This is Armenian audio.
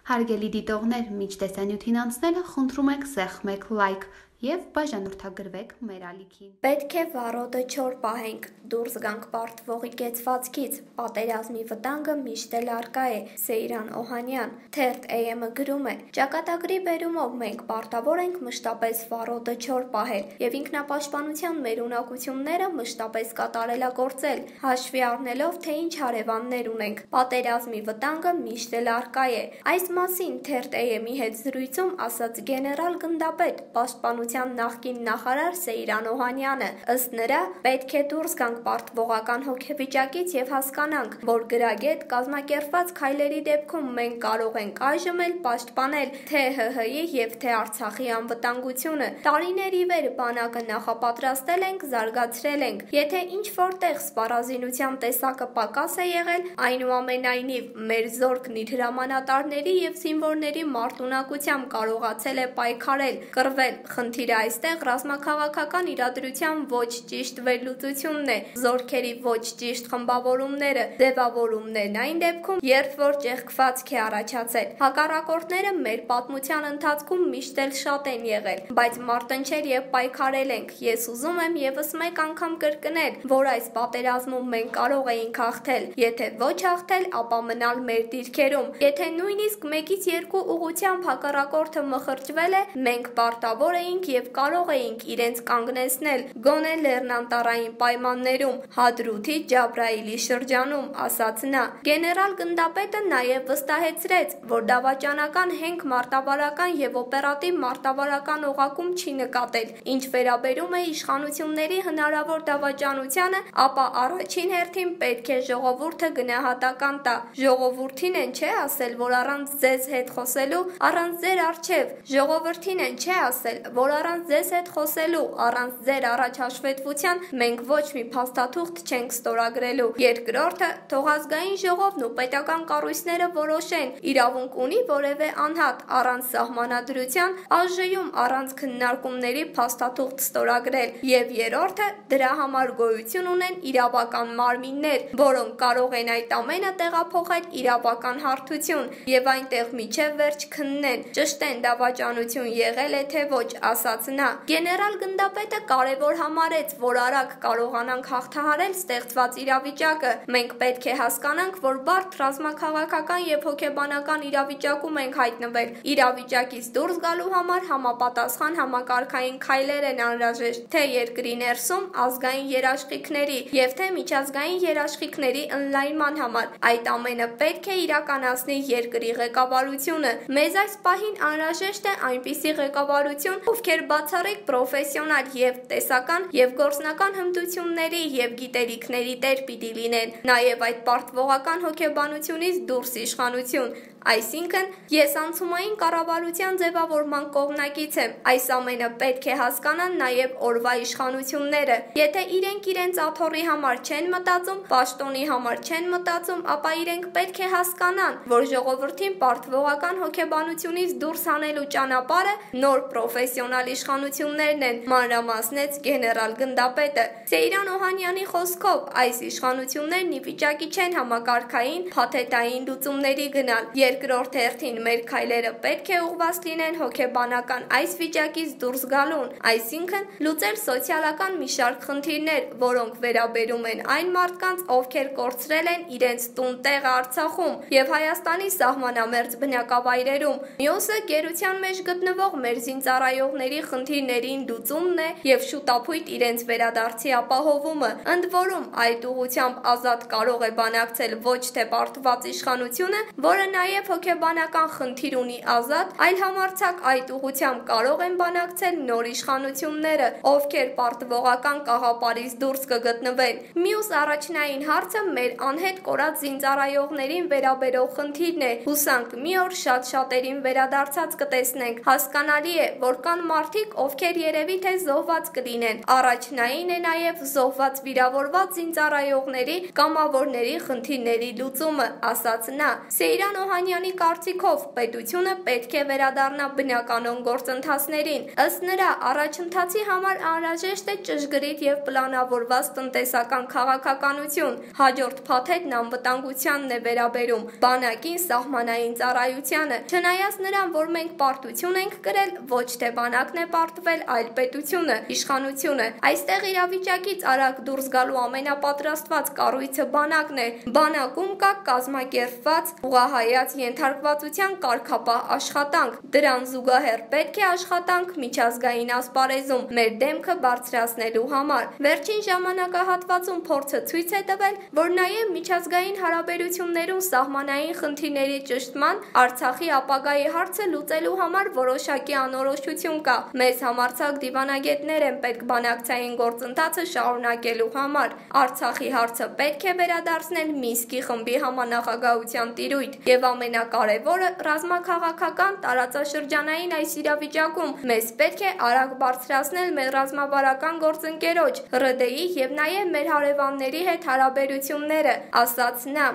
Հարգելի դիտողներ, մինչ տեսանյութին անցնելը խնդրում ենք սեղմեք լայք և բաժանորդագրվեք մեր ալիքին։ Պետք է վառոդը չոր պահենք, դուրս գանք պարտվողի կեցվածքից, պատերազմի վտանգը միշտ էլ առկա է, Սեյրան Օհանյան, թերթ AM-ը գրում է, ճակատագրի բերումով մենք պարտավոր ենք մշտապես վառոդը չոր պահել և ինքնապաշտպանության մեր ունակությունները մշտապես կատարելագործել, հաշվի առնելով, թե ինչ հարևաններ ունենք, պատերազմի վտանգը միշտ էլ առկա է։ Այս մասին թերթ AM-ի հետ զրույցում ասաց գեներալ գնդապետ, պաշտպանության նախկին նախարար Սեյրան Օհանյանը, ըստ նրա, պետք է դուրս գանք պարտվողական հոգեվիճակից և հասկանանք, որ գրագետ կազմակերպված քայլերի դեպքում մենք կարող ենք այժմ էլ պաշտպանել թե ՀՀ-ի և թե Արցախի անվտանգությունը։ Տարիներ ի վեր բանակը նախապատրաստել ենք, զարգացրել ենք։ Եթե ինչ-որտեղ սպառազինության տեսակը պակաս է եղել, այնուամենայնիվ մեր զորքն իր հրամանատարների և զինվորների մարտունակությամբ կարողացել է պայքարել, կռվել։ Խնդիրը այստեղ ռազմաքաղաքական իրադրության ոչ ճիշտ վերլուծությունն է, զորքերի ոչ ճիշտ խմբավորումները, ձևավորումներն այն դեպքում, երբ որ ճեղքվածք է առաջացել։ Հակառակորդները մեր պատմության ընթացքում միշտ էլ շատ են եղել, բայց մարտնչել և պայքարել ենք։ Ես ուզում եմ ևս մեկ անգամ կրկնել, որ այս պատերազմում մենք կարող էինք հաղթել, եթե ոչ հաղթել, ապա մնալ մեր դիրքերում։ Եթե նույնիսկ մեկից երկու ուղղությամբ հակառակորդը մխրճվել է, մենք պարտավոր էինք և կարող էինք իրենց կանգնեցնել, գոնե լեռնանտառային պայմաններում, Հադրութի Ջաբրայիլի շրջանում, ասաց նա։ Գեներալ գնդապետը նաև վստահեցրեց, որ դավաճանական հենք մարտավարական և օպերատիվ մարտավարական օղակում չի նկատել։ Ինչ վերաբերում է իշխանությունների հնարավոր դավաճանությանը, ապա առաջին հերթին պետք է ժողովուրդը գնահատական տա։ Ժողովրդին են չէ ասել, որ առանց ձեզ հետ խոսելու, առանց ձեր առջև, ժողովրդին են չէ ասել, որ առանց ձեզ հետ խոսելու, առանց ձեր առաջ հաշվետվության մենք ոչ մի փաստաթուղթ չենք ստորագրելու։ Երկրորդը, թող ազգային ժողովն ու պետական կառույցները որոշեն, իրավունք ունի որևէ անհատ առանց սահմանադրության, ԱԺ-ում առանց քննարկումների փաստաթուղթ ստորագրել։ Եվ երրորդը, դրա համար գոյություն ունեն իրավական մարմիններ, որոնք կարող են այդ ամենը տեղափոխել իրավական հարթություն և այնտեղ մինչև վերջ քննեն, ճշտեն դավաճանություն եղել է թե ոչ, ասաց նա։ Գեներալ գնդապետը կարևոր համարեց, որ արագ կարողանանք հաղթահարել ստեղծված իրավիճակը։ Մենք պետք է հասկանանք, որ բարդ ռազմաքաղաքական և հոգեբանական իրավիճակում ենք հայտնվել։ Իրավիճակից դուրս գալու համար համապատասխան համակարգային քայլեր են անհրաժեշտ, թե երկրի ներսում ազգային երաշխիքների և թե միջազգային երաշխիքների ընդլայնման համար։ Այդ ամենը պետք է իրականացնի երկրի ղեկավարությունը։ Մեզ այս պահին անհրաժեշտ է այնպիսի ղեկավարություն, ովքեր բացառիկ պրոֆեսիոնալ և տեսական և գործնական հմտությունների և գիտելիքների տեր պիտի լինեն, նաև այդ պարտվողական հոգեբանությունից դուրս իշխանություն։ Այսինքն, ես անցումային կառավարության ձևավորման կողմնակից եմ։ Այս ամենը պետք է հասկանան նաև օրվա իշխանությունները։ Եթե իրենք իրենց աթոռի համար չեն մտածում, պաշտոնի համար չեն մտածում, ապա իրենք պետք է հասկանան, որ ժողովրդին պարտվողական հոգեբանությունից դուրս հանելու ճանապարհը նոր պրոֆեսիոնալ իշխանություններն են, մանրամասնեց գեներալ գնդապետը։ Սեյրան Օհանյանի խոսքով, այս իշխանություններն ի վիճակի չեն համակարգային, փաթեթային լուծումների գնալ։ Երկրորդ հերթին մեր քայլերը պետք է ուղղված լինեն հոգեբանական այս վիճակից դուրս գալուն, այսինքն լուծել սոցիալական մի շարք խնդիրներ, որոնք վերաբերում են այն մարդկանց, ովքեր կորցրել են իրենց տուն-տեղը Արցախում և Հայաստանի սահմանամերձ բնակավայրերում։ Մյուսը գերության մեջ գտնվող մեր զինծառայողների խնդիրներին լուծումն է և շուտափույթ իրենց վերադարձի ապահովումը։ Ընդ որում, այդ ուղղությամբ ազատ կարող է բանակցել ոչ թե պարտված իշխանությունը, որը նաև հոգեբանական խնդիր ունի ազատ, այլ համարձակ այդ ուղղությամբ կարող են բանակցել նոր իշխանությունները, ովքեր պարտվողական կաղապարից դուրս կգտնվեն։ Մյուս առաջնային հարցը մեր անհետ կորած զինծառայողներին վերաբերող խնդիրն է։ Հուսանք մի օր շատ շատերին վերադարձած կտեսնենք։ Հասկանալի է, որ կան մարդիկ, ովքեր երևի թե զոհված կլինեն։ Առաջնային է նաև զոհված վիրավորված զինծառայողների կամավորների խնդիրների լուծումը, ասաց նա։ Սեյրան Օհանյանի կարծիքով պետությունը պետք է վերադառնա բնականոն գործընթացներին։ Ըստ նրա, առաջընթացի համար անհրաժեշտ է ճշգրիտ և պլանավորված տնտեսական քաղաքականություն։ Հաջորդ փաթեթն անվտանգությանն է վերաբերում, բանակին, սահմանային ծառայությանը։ Չնայած նրան, որ մենք պարտություն ենք կրել, ոչ թե բանակն է պարտվել, այլ պետությունը, իշխանությունը։ Այստեղ իրավիճակից արագ դուրս գալու ամենապատրաստված կառույցը բանակն է։ Բանակում կա կազմակերպված, ուղղահայաց ենթարկվածության կարգապահ աշխատանք։ Դրան զուգահեռ պետք է աշխատանք միջազգային ասպարեզում մեր դեմքը բարձրացնելու համար։ Վերջին ժամանակահատվածում փորձը ցույց է տվել, որ նաև միջազգային հարաբերություններում սահմանային խնդիրների ճշտման, Արցախի ապագայի հարցը լուծելու համար որոշակի անորոշություն կա։ Մեզ համարձակ դիվանագետներ են պետք բանակցային գործընթացը շարունակելու համար։ Արցախի հարցը պետք է վերադարձնել Մինսկի խմբի համանախագահության տիրույթ։ Եվ ամենակարևորը, ռազմաքաղաքական տարածաշրջանային այս իրավիճակում մեզ պետք է արագ բարձրացնել մեր ռազմավարական գործընկերոջ, ՌԴ-ի և նաև մեր հարևանների հետ հարաբերությունները, ասաց նա։